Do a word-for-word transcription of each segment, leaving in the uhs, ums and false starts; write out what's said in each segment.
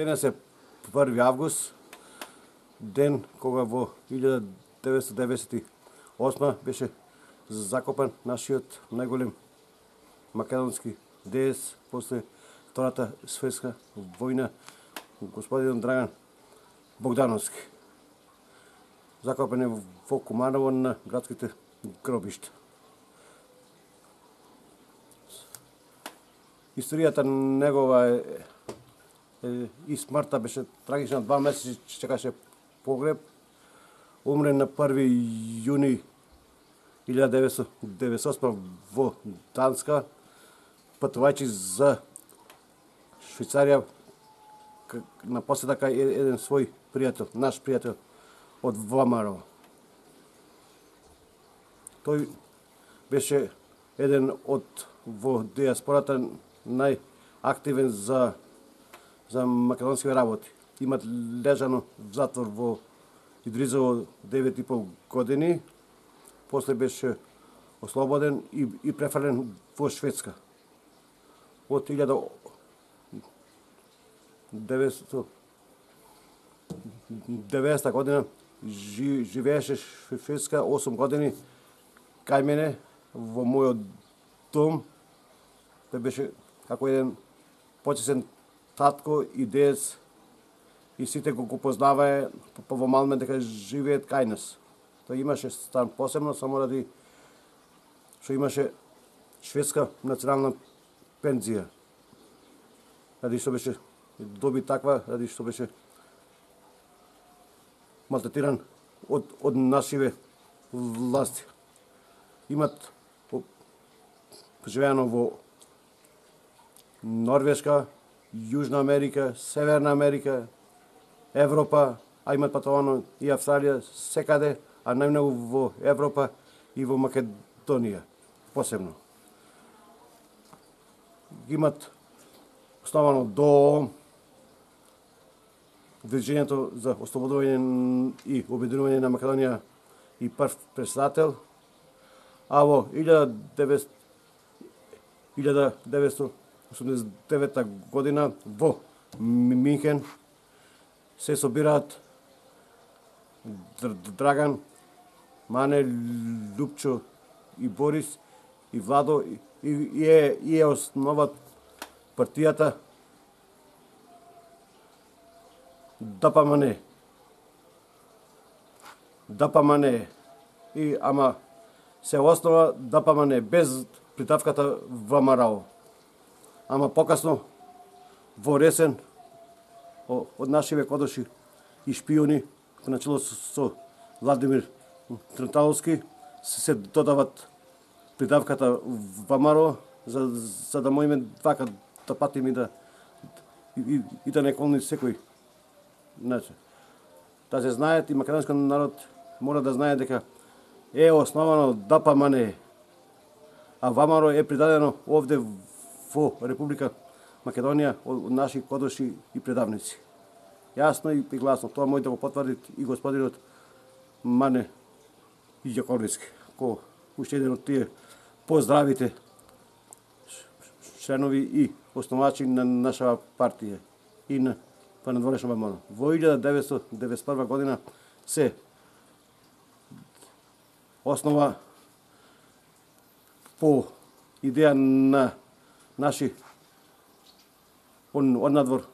Денес е први август, ден кога во илјада деветстотини деведесет и осма беше закопан нашиот најголем македонски деец после Втората светска војна, господин Драган Богдановски. Закопан е во Куманово на градските гробишта. Историјата негова е, е и смртта беше трагична. Два месеци чекаше погреб. Умре на први јуни илјада деветстотини деведесет и осма во Данска, патувајќи за Швајцарија на поседа кај еден свој пријател, наш пријател од ВМРО. Тој беше еден од во диаспората најактивен за за македонски работи. Имат лежано в затвор во Идризово девет и пол години, после беше ослободен и, и префрлен во Шведска. Од илјада деветстотини и деветдесета година жи, живееше во Шведска осум години кај мене во мојот дом. Тој беше како еден почесен татко и дец и сите го, го познавае по во Малмен дека живеет кај нас. Тој имаше стан посебно само ради што имаше шведска национална пензија. Ради што беше доби таква, ради што беше малтретиран од, од нашиве власти. Имат живеано во Норвешка, Јужна Америка, Северна Америка, Европа, а имат патовано и Австралија, секаде, а најмногу во Европа и во Македонија, посебно. Имат основано до Движењето за ослободување и обединување на Македонија и прв председател, а во илјада деветстотини осумдесет и девета година во Минхен се собираат Драган, Мане, Лупчо и Борис и Владо и, и, е, и е основат партијата ДПМН. ДПМН. И ама се основа ДПМН без придавката ВМРО. Ама покасно во ресен од нашиве кодоши и шпиони начело со Владимир Тренталовски се додават придавката ВМРО за, за да можеме вака да патиме да и, и да не колни секој. Значи, да се знаат и македонскиот народ мора да знае дека е основано ДПМН, а ВМРО е придадено овде во Република Македонија од наши кодоши и предавници. Јасно и гласно. Тоа може да го потврди и господинот Мане Јаковлевски, кој уште еден од тие поздравите членови и основачи на нашава партија и на понадворешно ВМРО. Во илјада деветстотини деведесет и прва година се основа по идеја на наши однадвор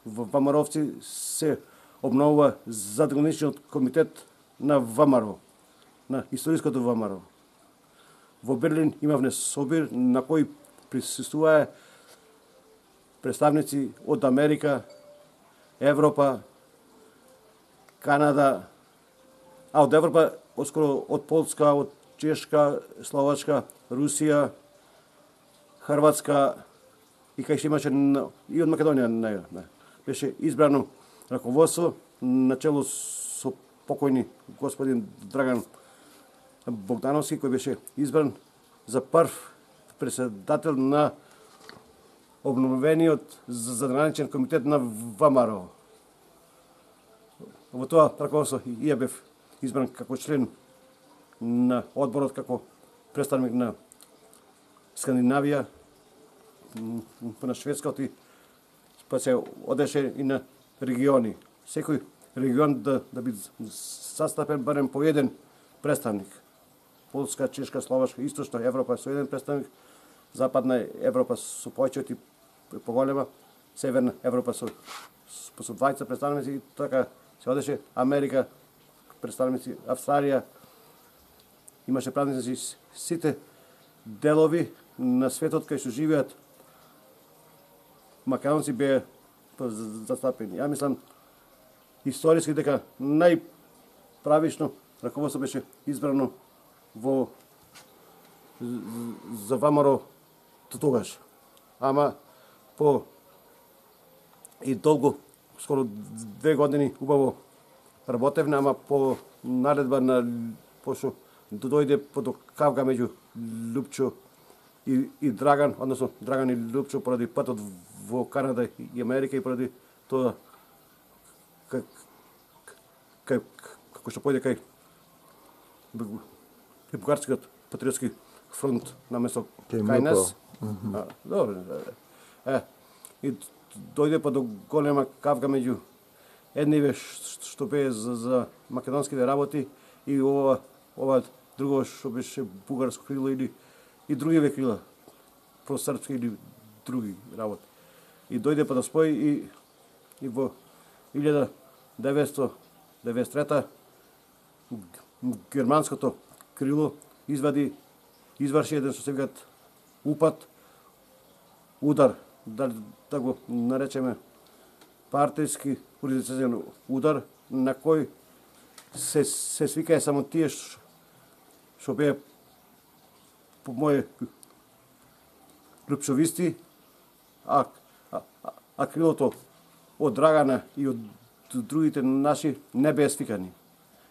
ВМРО-овци се обновува задграничниот комитет на ВМРО, на историското ВМРО. Во Берлин имавме собир на кој присуствуваа представници од Америка, Европа, Канада, а од Европа оскоро од Полска, од Чешка, Словачка, Русија, Хрватска и кај што имаше и од Македонија не, не. Беше избрано раководство начело со покојни господин Драган Богдановски, кој беше избран за прв председател на обновениот задграничен комитет на ВМРО. Во тоа раководство и ја бев избран како член на одборот, како представник на Скандинавија, на Шведската, па се одеше и на региони. Секој регион да, да биде застапен барем по еден представник. Полска, Чешка, Словашка, Источна Европа со еден представник, Западна Европа со повеќе и поголема, Северна Европа со со двајца представници и така се одеше. Америка представници, Австралија имаше представници, сите делови на светот кај што живеат македонци беа застапени. Ја мислам историски дека најправично раководство беше избрано во за ВМРО тогаш. Ама по и долго, скоро две години убаво работевме, ама по наредба на пошо дојде по кавга меѓу Лупчо и, и Драган, односно Драган и Лупчо поради патот во Канада и Америка и поради тоа кај кај како што појде кај Бугарскиот патриотски фронт наместо кај нас. А, добро. Е, и дојде па до голема кавга меѓу едниве што бе за, за македонските работи и ова ова друго што беше бугарско крило или и другиве крила просрпски или други работи. И дојде па да спои и и во илјада деветстотини деветдесет и трета германското крило извади изврши еден што се викат упад, удар, да, да го наречеме партиски организацијен удар, на кој се, се свикае само тие што беа по моје лупчовисти, а, а, а крилото од Драгана и од другите наши не беа свикани.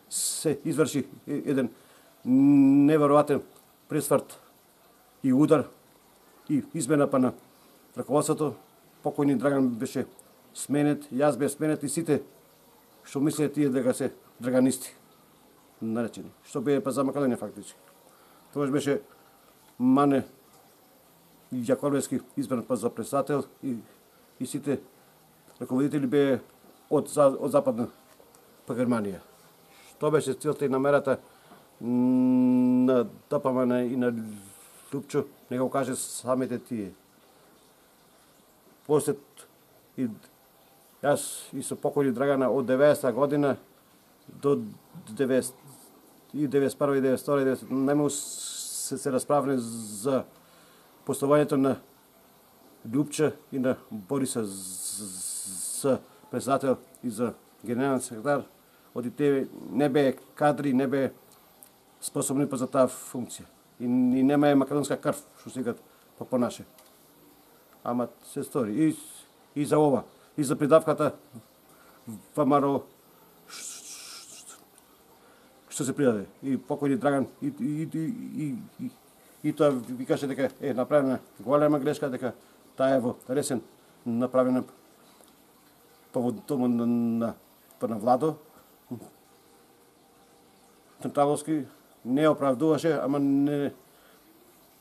Се изврши еден неверојатен пресврт и удар и измена па на раководството. Покојни Драган беше сменет, јас бе сменет и сите што мислеа тие дека се драганисти наречени, што бе па за Македонија фактички. Тогаш беше Мане Јаковлевски избран па за председател и, и сите раководители бе од, од Западна па Германија. Што беше целта и намерата на ДПМН и на Лупчо, не го каже самите тие. После и јас и со покојни Драгана од деветдесета година до деветдесет и деветдесет и прва и деветдесет и втора и деветдесет најмногу се, се расправиле за поставувањето на Лупча и на Бориса за председател и за генерален секретар. Оди те не бе кадри, не бе способни па за таа функција. И, и нема е македонска крв, што се викат по понаше. Ама се стори. И, и за ова, и за придавката ВМРО што се придаде. И покојни Драган, и, и, и, и, и, и тоа викаше дека е направена голема грешка, дека таа е во ресен направена па во дома на, на, па на Владо. Централовски не оправдуваше, ама не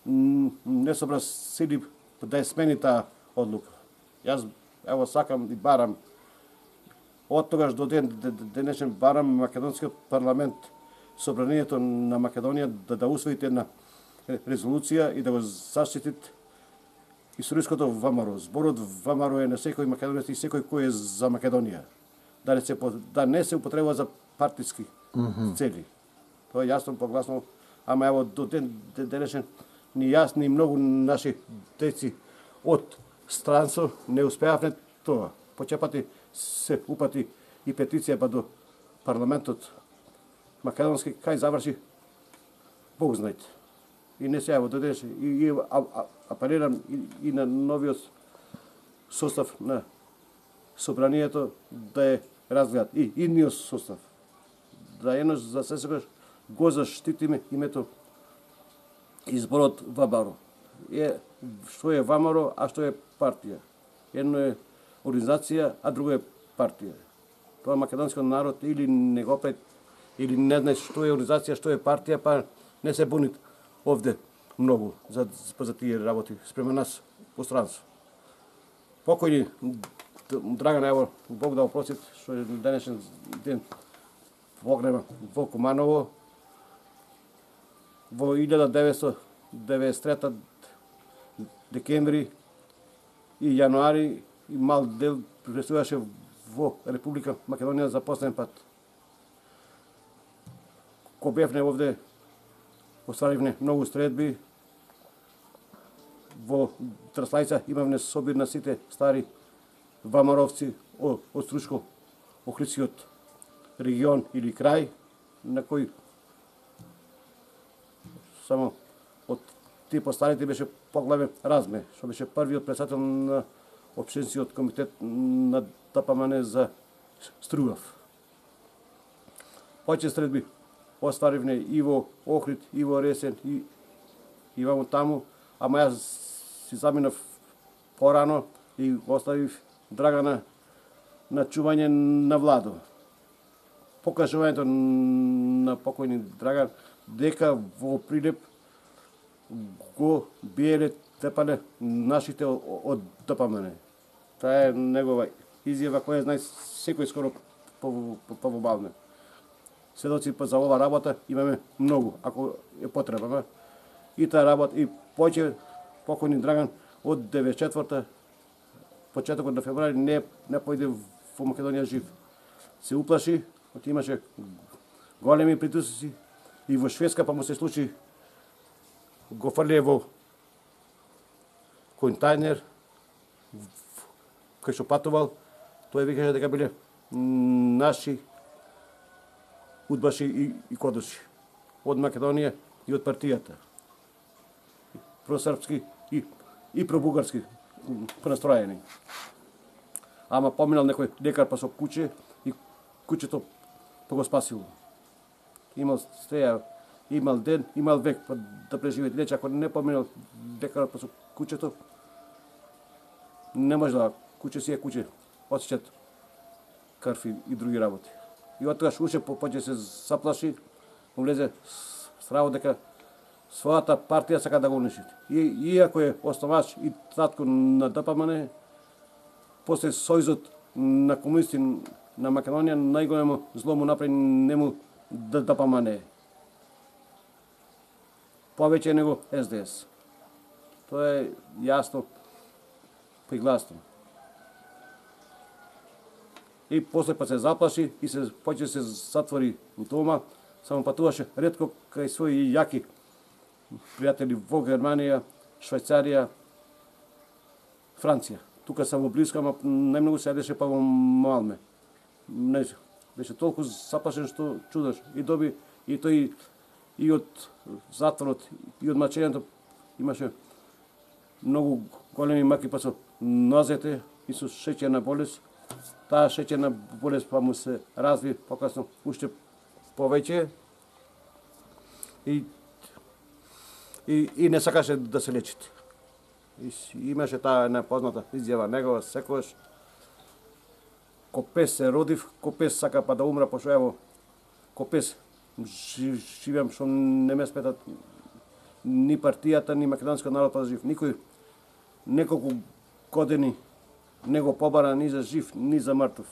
не собра сили да ја смени таа одлука. Јас ево сакам и барам од тогаш до ден денешен барам македонскиот парламент, собранието на Македонија да да усвоите една резолуција и да го заштитит историското ВМРО. Зборот ВМРО е на секој македонец и секој кој е за Македонија. Да не се да не се употребува за партиски mm-hmm. цели. Тоа е јасно погласно, ама ево до ден денешен ни јас ни многу наши деци од странство не успеавме тоа. Почепати се упати и петиција па до парламентот македонски, кај заврши Бог знаете. И не се ево до денешен. И, и а, а, апелирам и, и на новиот состав на собранието да е разгледат. И идниот состав. Да еднош за сесекојаш го заштитиме името изборот ВМРО. Е, што е ВМРО, а што е партија? Едно е организација, а друго е партија. Тоа македонскиот народ или не го пред, или не знае што е организација, што е партија, па не се бунит овде многу за, за тие работи спрема нас по странство. Покојни Драган, ево, Бог да опростит, што е денешен ден погреба во Куманово. Во илјада деветстотини деветдесет и трета декември и јануари и мал дел присуствуваше во Република Македонија за последен пат. Ко бевне овде, остваривне многу стредби. Во Траслајца имавме собир на сите стари вамаровци од Стручко, Охридскиот регион или крај, на кој само од тие постарите беше поглавен Разме, што беше првиот председател на општинскиот комитет на ДПМН за Стрував. Повеќе стредби остваривне и во Охрид, и во Ресен, и, и ваму таму, ама јас си заминав порано и оставив Драгана на чување на Владо. Покажувањето на покојни Драган дека во Прилеп го биеле тепале нашите од ДПМН. Таа е негова изјава која знае секој скоро повобавне. Сведоци за ова работа имаме многу, ако е потребна. И таа работа, и повеќе покојни Драган од деветдесет и четврта почетокот на февруари не не појде во Македонија жив. Се уплаши, од имаше големи притисоци и во Шведска, па му се случи го фрле во контајнер кај што патувал. Тој викаше дека биле наши удбаши и, и кодоши од Македонија и од партијата. Просрпски и, и пробугарски понастроени. Ама поминал некој лекар па со куче и кучето па го спасило. Имал стеја, имал ден, имал век па да преживее. Иначе ако не поминал лекарот па со кучето, не може да, куче си е куче, осеќат крв и други работи. И од тогаш уште почне се заплаши, му влезе страво дека својата партија сака да го уништи. И, иако е основач и татко на ДПМН, после сојзот на комунисти на Македонија, најголемо зло му направи нему ДПМН. Повеќе него С Д С. Тоа е јасно пригласно. И после па се заплаши и се почне се затвори у дома, само патуваше ретко кај своји јаки пријатели во Германија, Швајцарија, Франција. Тука само близко, ама најмногу се јадеше па во Малме. Не, беше толку заплашен што чудаш. И доби и тој и од затворот и од мачењето имаше многу големи маки па со нозете и со шеќерна болест. Таа шеќерна болест па му се разви покасно уште повеќе и и, и не сакаше да се лечите. И имаше таа една позната изјава негова секогаш: ко пес се родив, ко пес сака па да умра, пошто ево ко пес живеам што не ме сметат ни партијата, ни македонскиот народ па да жив. Никој неколку години не го побара ни за жив, ни за мртов.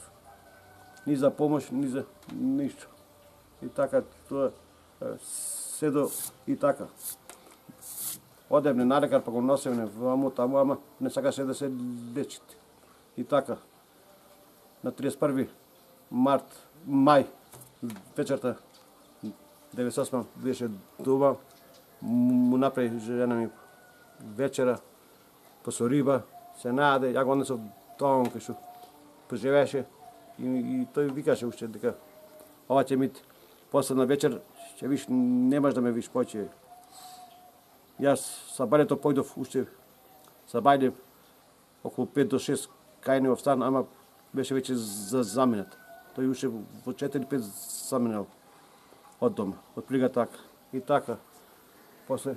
Ни за помош, ни за ништо. И така, тоа се до и така. Одевне на лекар, па го носевне ваму таму, ама не сакаше да се лечите. И така, на триесет и први март, мај, вечерта, деветдесет и осма беше дома, му направи жена ми вечера, па со риба, се најаде, ја го однесов домом кај што поживеше и, и тој викаше уште дека ова ќе ми последна вечер, ќе виш, немаш да ме виш повеќе. Јас са бајлето појдов уште, са бајле околу пет до шест кај него стан, ама беше веќе за заминат. Тој уште во четири-пет заминал од дома, од прилика така. И така, после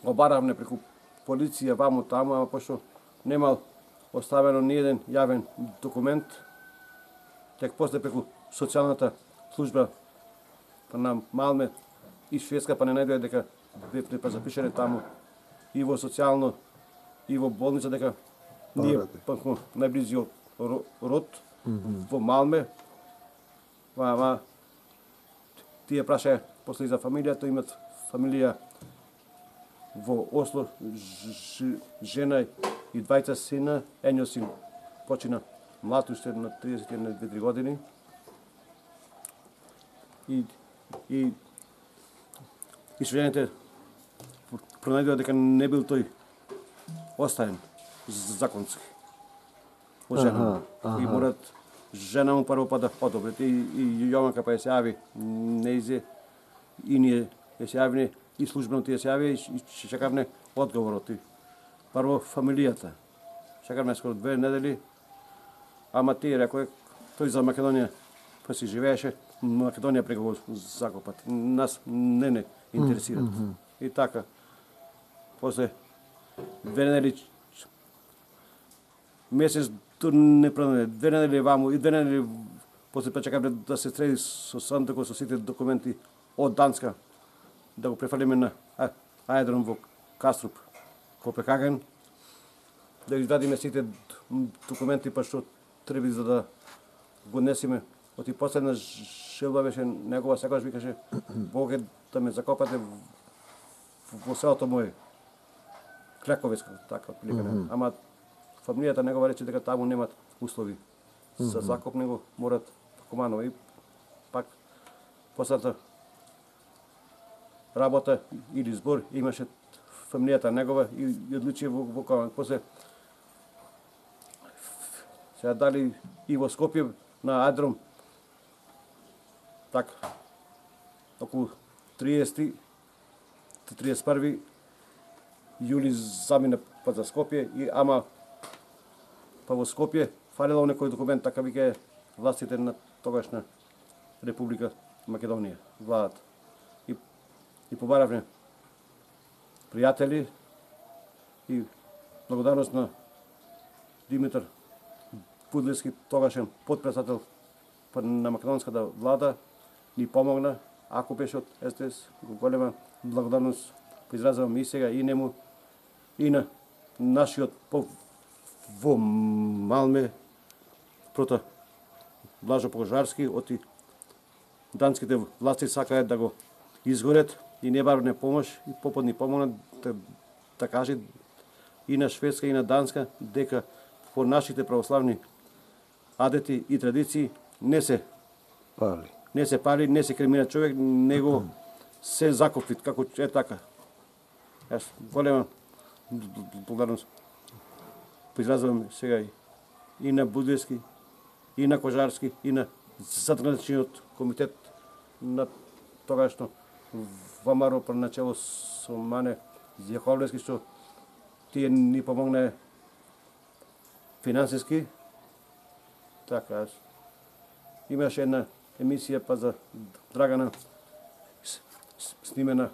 обаравме преку полиција ваму таму, ама пошто немал оставено ни еден јавен документ, тек после преку социјалната служба на Малме и Шведска, па не најдоја дека бевме па запишане таму и во социјално и во болница дека ние пак најблизи род во Малме. Ама тие праша после за фамилијата, имат фамилија во Осло, жена и двајца сина, едниот син почина млад, уште на триесет и две години. И и и свидетелите пронајдува дека не бил тој оставен законски. Од жена. И морат жена му прво па да одобрите и, и Јованка па ја се јави неизе и ние ја се јавиме и службено тие се јави и чекавме одговорот. Прво фамилијата. Чекавме скоро две недели, ама тие рекоа тој за Македонија па си живееше, Македонија преку го закопат. Нас не не интересират. Mm -hmm. И така. После две недели месец тур не пронајде, две недели ваму и две недели после почекавме да се среди со Сандекот со сите документи од Данска, да го префалиме на аеродром во Каструп, Копенхаген, да извадиме сите документи па што треба за да го несиме. Оти последна желба беше негова, секогаш викаше Бог е да ме закопате во селото моје. Клековецка, така отприлика. Mm -hmm. Ама фамилијата негова рече дека таму немат услови mm -hmm. за закоп, него морат комано и пак последната работа или збор имаше фамилијата негова и, и одлучи во, во Коман. После се дали и во Скопје на аеродром така околу триесети триесет и први јули замина па за Скопје и ама па во Скопје фалело некој документ, така вика властите на тогашна Република Македонија, владата. И и побаравме пријатели и благодарност на Димитар Пудлевски, тогашен потпредседател на македонската влада, ни помогна, ако беше од Ес Де Ес, голема благодарност изразувам и сега и нему, и на нашиот по во Малме, прота Блажо Пожарски, оти данските власти сакаат да го изгорет и не барне помош, и попод ни помогна да, да каже и на Шведска и на Данска дека по нашите православни адети и традиции не се пали, не се пали, не се кремира човек, него се закопи, како е така. Јас голема благодарност изразувам сега и на Будлевски, и на Кожарски, и на Задграничниот комитет на тогашно ВМРО по начело со Мане Јаковлевски, што тие ни помогна финансиски. Така, имаше една емисија па за Драгана снимена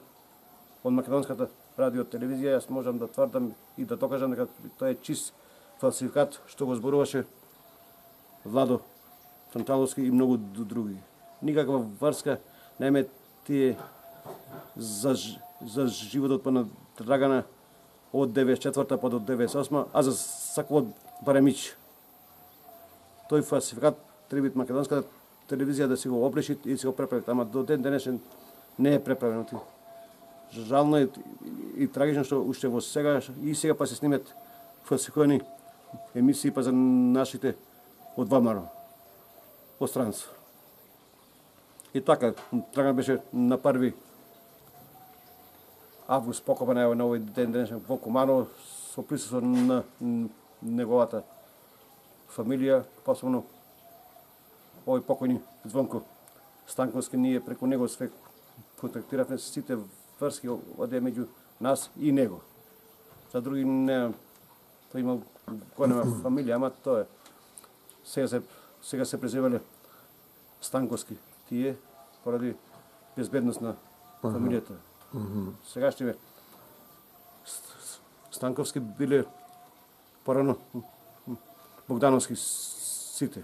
од македонската радио телевизија. Јас можам да тврдам и да докажам дека тоа е чист фалсификат што го зборуваше Владо Фанталовски и многу други. Никаква врска нема тие за за животот па на Драгана од деветдесет и четврта па до деветдесет и осма, а за Саквот Баремич. Тој фалсификат треба македонската телевизија да си го опреши и си го преправи, ама до ден денешен не е преправено. Жално е и трагично што уште во сега и сега па се снимат фалсификувани емисии па за нашите од ВМРО од странство. И така, Драган беше на први август покопан на овој ден денешен во Куманово со присуство на неговата фамилија, посебно овој покојни Звонко Станковски. Ние преку него све контактиравме, сите врски оде меѓу нас и него. За други не, тој имал голема фамилија, ама тоа е. Сега се сега се презивале Станковски тие поради безбедност на фамилијата. Сегашните Станковски биле порано Богдановски сите.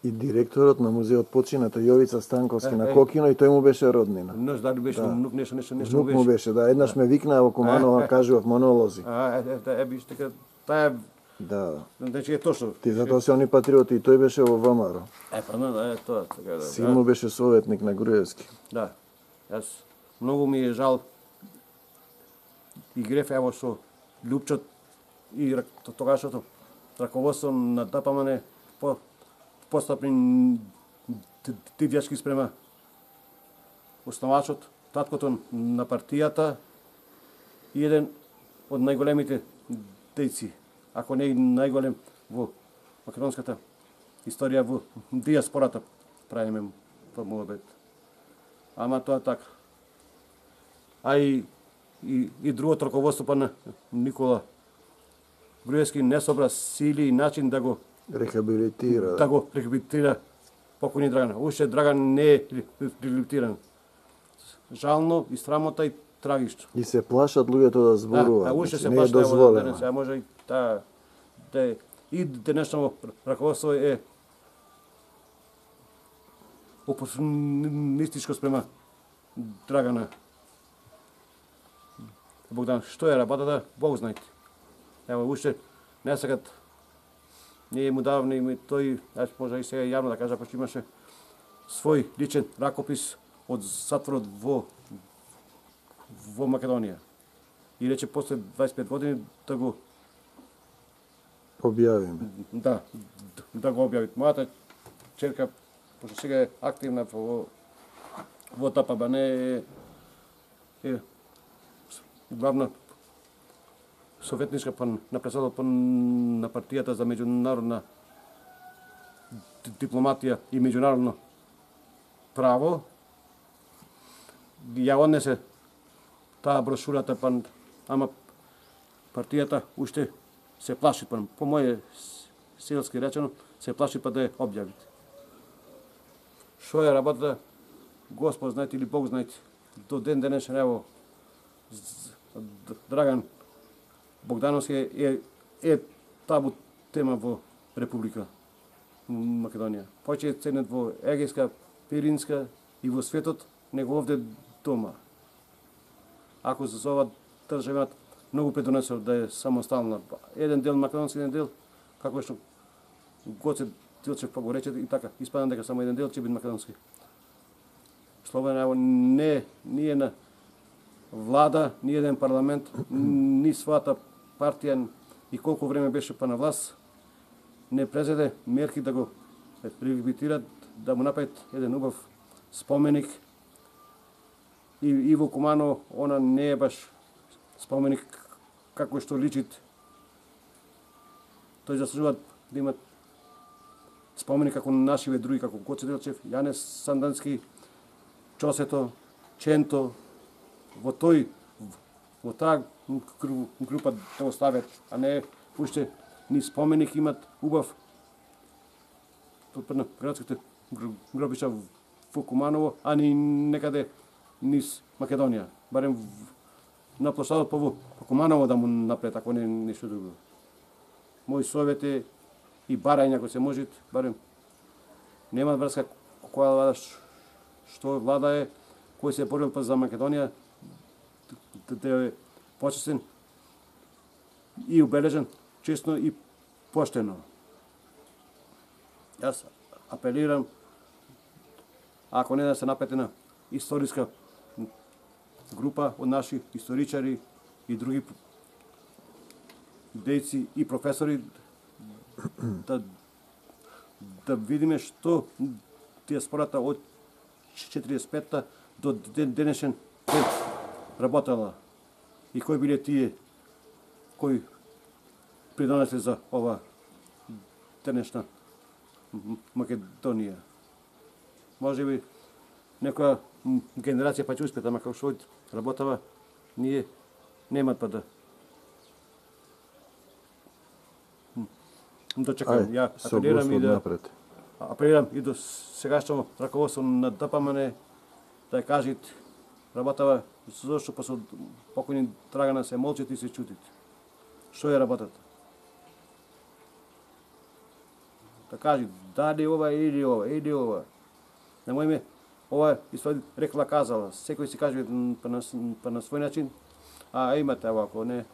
И директорот на музеот почината Јовица Станковски е, на Кокино, и тој му беше роднина. Не, дали беше да. Внук, нешто, нешто, нешто му беше. Да, еднаш да. ме викнаа во Куманово, кажував монолози. А, е, е, е, биш, така, таа Да. Значи е точно. Ти затоа се они патриоти и тој беше во ВМРО. Е, па ну, е тоа, така да. Син му беше советник на Груевски. Да. Јас многу ми е жал и греф ево што Лјупчот и тогашното раководство на ДПМН по постапни дивјачки спрема основачот, таткото на партијата и еден од најголемите дејци, ако не и најголем во македонската историја, во диаспората, правиме по муабет. Ама тоа така. А и, и, и другото раководство па на Никола Груевски не собра сили и начин да го Рехабилитира. да го рехабилитира покојни Драган. Уште Драган не е рехабилитиран. Жално и срамота и трагично. И се плашат луѓето да зборуваат. Да, а уште се не е плашат, дозволено. а може и таа да и денешно раководство е опортунистичко спрема Драгана. Богдан, што е работата, Бог знаете. Ево, уште не сакат, ние му давни, ми тој, аз може и сега јавно да кажа, пошто имаше свој личен ракопис од затворот во во Македонија. И рече после дваесет и пет години да го објавиме. Да, да го објави. Мојата черка, пошто сега е активна во во ДПМН е, е главна советничка па на председател на партијата за меѓународна дипломатија и меѓународно право. Ја однесе таа брошурата, па, ама партијата уште се плаши, па, по моје селски речено, се плаши па да ја објавите. Шо е работата, Господ знаете или Бог знаете, до ден денешен, ево, Драган Богдановски е, е табу тема во Република Македонија. Повеќе е ценет во Егејска, Пиринска и во светот, него овде дома. Ако за ова држава многу предонесува да е самостална. Еден дел македонски, еден дел, како што Гоце Дилчев па го рече и така, испадам дека само еден дел ќе биде македонски. Словенија ево не, ние на влада, ни еден парламент, ни својата партија и колку време беше па на власт, не презеде мерки да го рехабилитират, да му направат еден убав споменик. И, и во Куманово, она не е баш споменик како што личит. Тој заслужува да имат споменик како нашиве други, како Гоце Делчев, Јанес Сандански, Чосето, Ченто, во тој, во таа група да оставят, а не уште ни споменик имат убав на градските гробишта во Куманово, а ни некаде низ Македонија. Барем на площадот по, по Куманово да му напред, ако не нешто друго. Мој совет е и барање, ако се можат, барем нема врска која влада, што влада е, кој се борил па за Македонија, да е почестен и убележен, честно и поштено. Јас апелирам, ако не да се напетена историска група од наши историчари и други дејци и професори, да, да видиме што диаспората од четиридесет и петта до ден денешен ден работела и кои биле тие кои придонесле за ова денешна Македонија. Може би некоја генерација па ќе успет, ама како што работава, ние немат па да дочекам. Ја апелирам и да напред. апелирам и до сегашно раководство на ДПМН да ја кажат работава зашто па со покојни Драгана се молчат и се чутит. Што е работата? Да кажи дали ова или ова или ова. Немојме ова и свој рекла казала. Секој си каже па на, па на свој начин. А имате овако, не.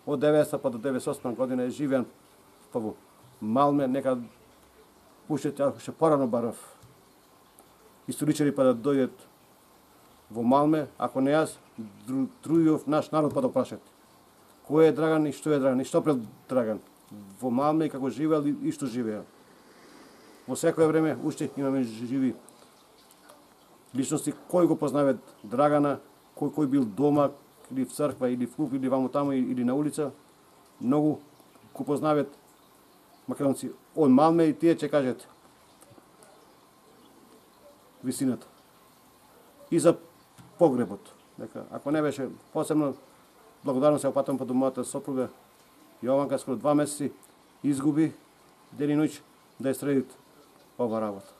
Од деветстотина па до деветдесет и осма година е живеан па во Малме, нека уште ќе порано барав историчари па да дојдат во Малме, ако не јас, друјов наш народ па да прашат. Кој е Драган и што е Драган и што пред Драган во Малме и како живеел и што живеел. Во секое време уште имаме живи личности кои го познават Драгана, кој кој бил дома или в црква или в клуб или ваму таму или на улица, многу го познават македонци од Малме и тие ќе кажат висината. И за погребот, дека ако не беше посебно благодарно се опатам по мојата сопруга Јованка, скоро два месеци изгуби ден и ноќ да ја средит ова работа.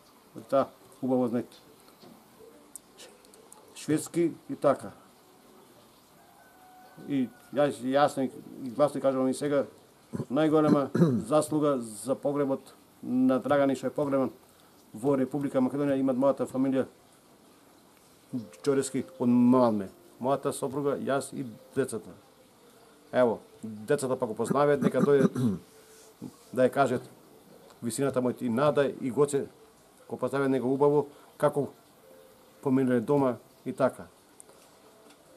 Та убаво знаете. Шведски и така. И јас јасно и гласно кажувам и сега, најголема заслуга за погребот на Драган и што е погребан во Република Македонија имат мојата фамилија Џорески од Малме. Мојата сопруга, јас и децата. Ево, децата па го познаваат, нека дојдат да ја кажат висината мојот и Нада и Гоце, го познаваат него убаво, како поминале дома и така.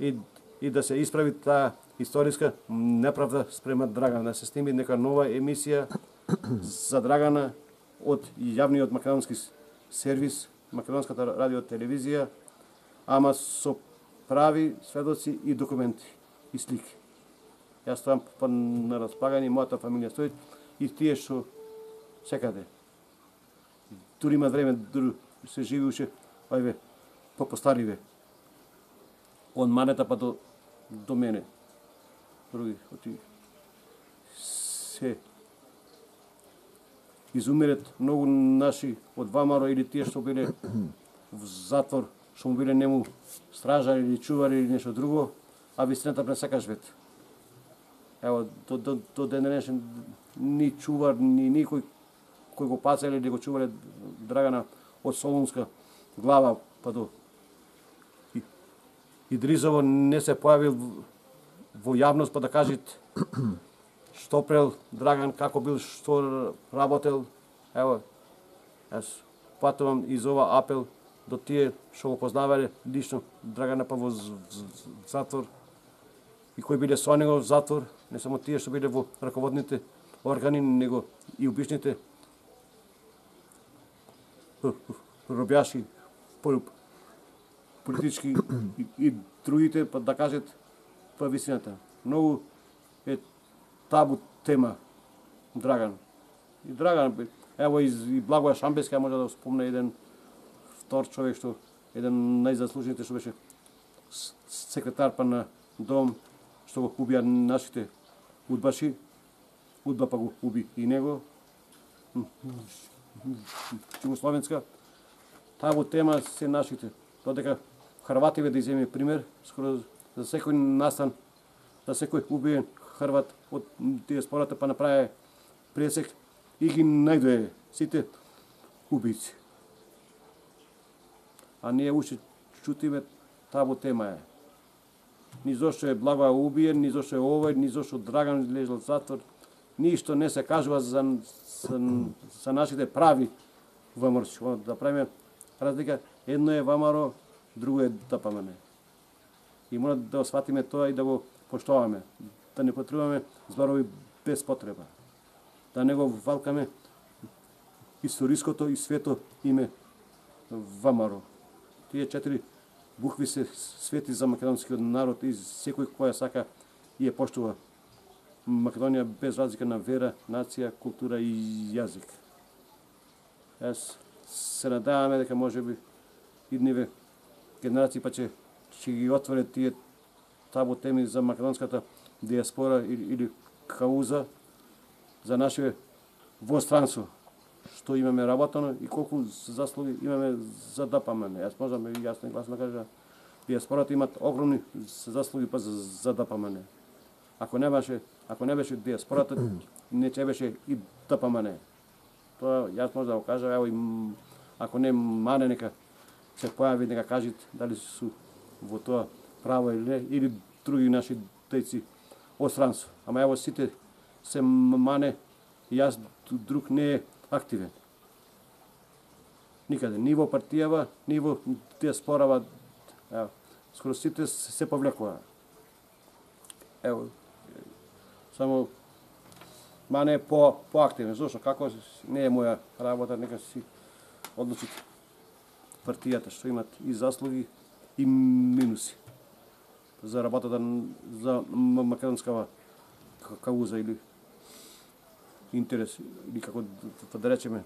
И, и да се исправи таа историска неправда спрема Драгана, да се сними нека нова емисија за Драгана од јавниот македонски сервис, македонската радио телевизија, ама со прави сведоци и документи и слики. Јас ставам па на располагање, мојата фамилија стои и тие што секаде. Дури има време, дури се живи уште, ајве, по-постариве. Од Манета па до, до мене. Други, оти се изумират многу наши од Вамаро или тие што биле в затвор, што му биле нему стражари или чувари или нешто друго, а вистината пред секаш вет. Ево, до, до, до ден денешен ни чувар, ни никој кој го пацале или го чувале Драгана од Солунска глава па до и, Идризово не се појавил во јавност па да кажат што прел Драган, како бил, што работел. Ево, јас патувам из ова апел до тие што го познавале лично Драгана па во затвор и кои биле со него во затвор, не само тие што биле во раководните органи, него и обичните робјаши, политички и, и другите, па да кажат па висината. Многу е табу тема Драган. И Драган, ево и, и Благоја Шамбеска може да спомне еден втор човек што еден најзаслужените што беше секретар па на дом што го убија нашите удбаши, удба па го уби и него. Југословенска. Табу тема се нашите. Додека Хрвативе да иземе пример, скоро за секој настан, за секој убиен Хрват од диаспората па направи пресек и ги најдоe сите убици. А ние уште чутиме табу тема е. Ни зошто е Благоја убиен, ни зошто е овој, ни зошто Драган лежал в затвор. Ништо не се кажува за, за, за нашите прави вамарци. Да правиме разлика, едно е Вамаро, друго е ДПМН. И мора да осватиме тоа и да го поштоваме. Да не потребуваме зборови без потреба. Да не го валкаме историското и свето име Вамаро. Тие четири букви се свети за македонскиот народ и секој која сака и ја поштува Македонија без разлика на вера, нација, култура и јазик. Јас се надаваме дека можеби идниве генерации па ќе ќе ги отворат тие табу теми за македонската диаспора или, или кауза за наше во странство што имаме работено и колку заслуги имаме за ДПМН. Јас можам и јасно и гласно да кажа, диаспората имат огромни заслуги па за, за ДПМН. Ако не беше, ако не беше диаспората, не ќе беше и ДПМН. Тоа јас можам да го кажам, ево и ако не мане нека се појави, нека кажат дали су во тоа право или не, или други наши дејци од странство. Ама ево сите се мане И јас друг не е активен. Никаде, ни во партијава, ни во тие спорава, ево, скоро сите се повлекува. Ево, само Мане е по поактивен, зошто како не е моја работа, нека си одлучите партијата што имат и заслуги и минуси за работата за македонскава кауза или интерес или како да речеме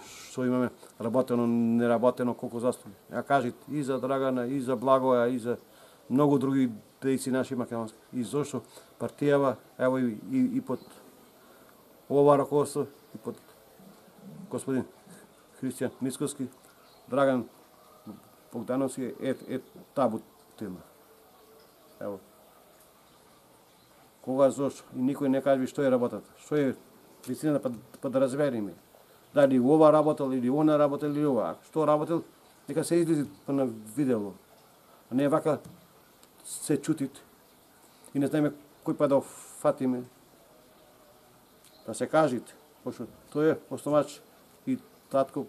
што имаме работено, неработено, колку заслуги. Ја кажите и за Драгана, и за Благоја, и за многу други дејци наши македонски. И зошто партијава, ево и, и, и под ова раководство, и под господин Христијан Мицкоски, Драган Богдановски е, е табу тема. Ево. Кога, зошто, и никој не кажи што е работата, што е вистината, па, па да разбериме. Дали ова работел или она работел или ова. Што работел, нека се излези на видео. А не вака се чутит и не знаеме кој па да фатиме. Да се кажите, пошто тој е основач и татко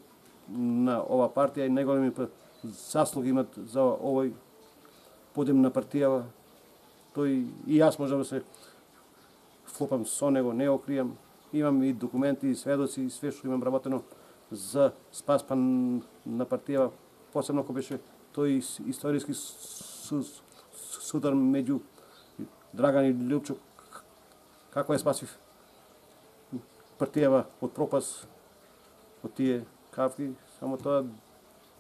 на ова партија и најголеми заслуги имат за овој подем на партијава. Тој и јас можам да се вклопам со него, не окријам. Имам и документи, и сведоци, и све што имам работено за спас па на партијава, посебно кога беше тој историски судар меѓу Драган и Лјупчо, како е спасив партијава од пропас, од тие кавки, само тоа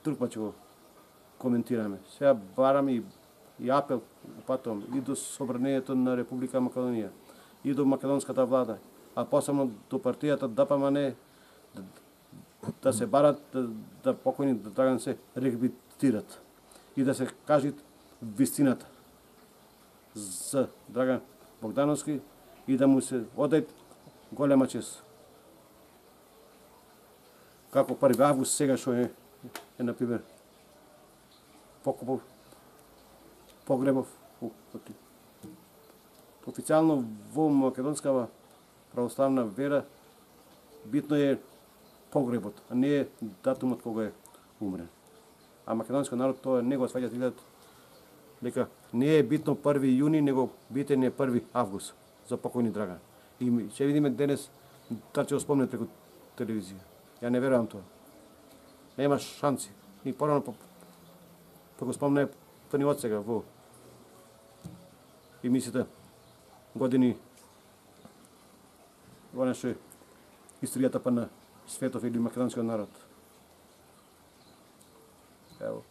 друг пат ќе го коментираме. Сега барам и, и апел, упатувам и до Собранието на Република Македонија, и до македонската влада, а посебно до партијата ДПМН, да, да се барат, да, да покојни да Драган се реабилитират и да се кажат вистината за Драган Богдановски и да му се одајат голема чест. Како први август сега што е, е например, покупов, погребов, официјално во македонскава православна вера битно е погребот, а не е датумот кога е умрен. А македонскиот народ тоа не го сваќа гледат дека не е битно први јуни, него битен е први август за покојни Драган. И ќе видиме денес дали ќе го спомнат преку телевизија. Ја не верувам тоа. Нема шанси. И порано па, па го спомне па ни од сега во емисијата години она што е историјата па на светов или македонскиот народ. Ево,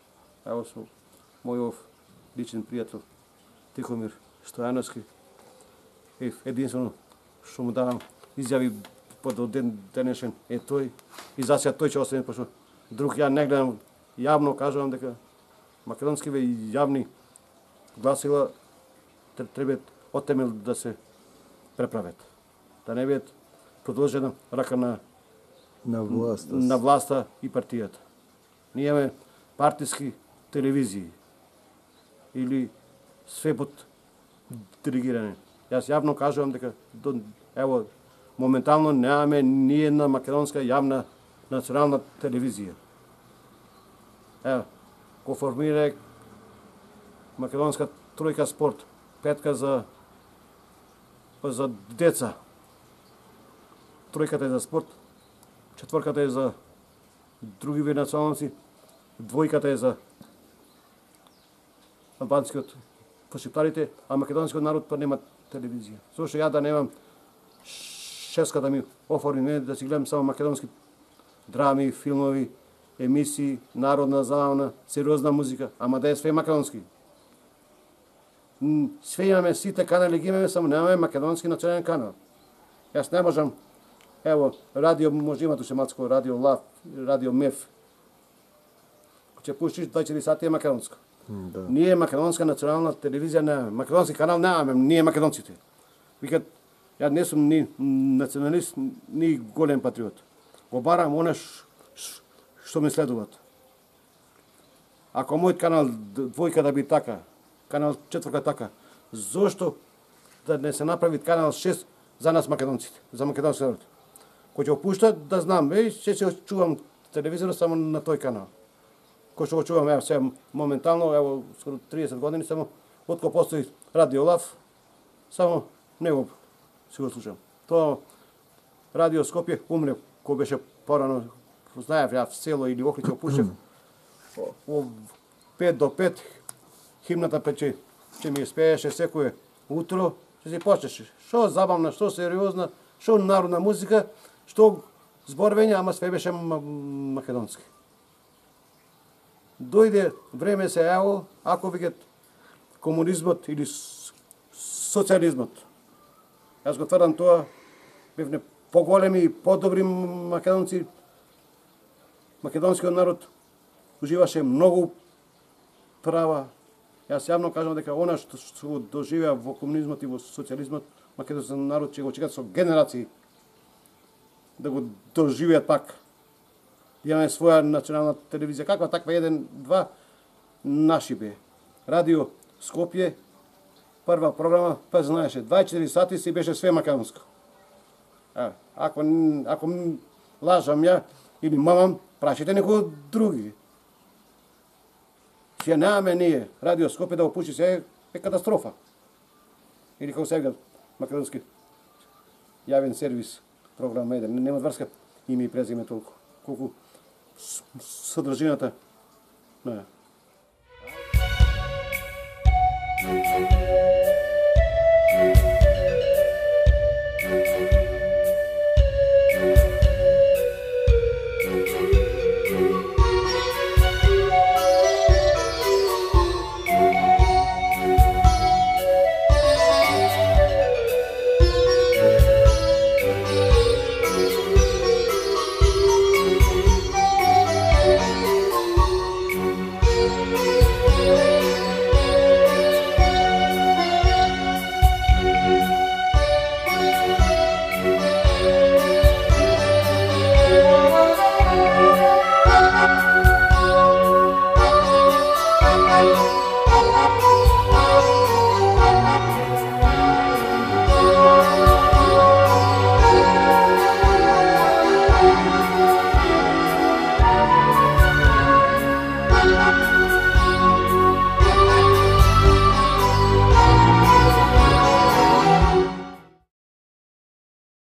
ево со мојов личен пријател Тихомир Стојановски. Е единствено што му давам изјави под ден денешен е тој и за сега тој ќе остане, пошто друг ја не гледам, јавно кажувам дека македонскиве јавни гласила треба од темел да се преправат. Да не бидат продолжена рака на на власта, на власта и партијата. Ние имаме партиски телевизии или све под диригирање. Јас јавно кажувам дека до, ево моментално немаме ни една македонска јавна национална телевизија. Ево, го формира македонска тројка спорт, петка за за деца. Тројката е за спорт, четворката е за други види националности, двојката е за албанскиот пошиптарите, а македонскиот народ па нема телевизија. Зошто ја да немам шеска да ми оформи не да си гледам само македонски драми, филмови, емисии, народна, забавна, сериозна музика, ама да е све македонски. Све имаме, сите канали ги имаме, само немаме македонски национален канал. Јас не можам, ево, радио, може има туше мацко, радио Лав, радио Меф. Ќе пуштиш двајсет и четири сати е македонско. Да. Ние македонска национална телевизија немаме, македонски канал немаме, ние македонците. Викат, ја не сум ни националист, ни голем патриот. Го барам она што ме следуваат. Ако мојот канал двојка да би така, канал четворка така, зошто да не се направи канал шест за нас македонците, за македонски народ? Кој ќе го пушта, да знам, е, ќе се чувам телевизорот само на тој канал. Кој што го чувам, ево, сега моментално, ево, скоро триесет години, само, откако постои Радио Лав, само него си го слушам. Тоа Радио Скопје умре, кој беше порано, знаев, ја в село или Охрид го пушев, во пет до пет, химната пече, че ми спееше секое утро, че си почнеше. Шо забавна, што сериозна, шо народна музика, што зборвење, ама све беше македонски. Дојде време се јаво, ако викат комунизмот или социализмот. Јас го тврдам тоа, бевне поголеми и подобри македонци. Македонскиот народ уживаше многу права. Јас јавно кажам дека она што, што го доживеа во комунизмот и во социализмот, македонскиот народ ќе го чекат со генерации да го доживеат пак. Имаме своја национална телевизија, каква таква еден, два, наши бе. Радио Скопје, прва програма, па знаеше, дваесет и четири сати си беше све македонско. А, ако, ако лажам ја или мамам, прашите некој други. Ќе немаме ние Радио Скопје да го пуши се е катастрофа. Или како се викат македонски јавен сервис, програма еден, нема врска име и презиме толку, колку содржината на.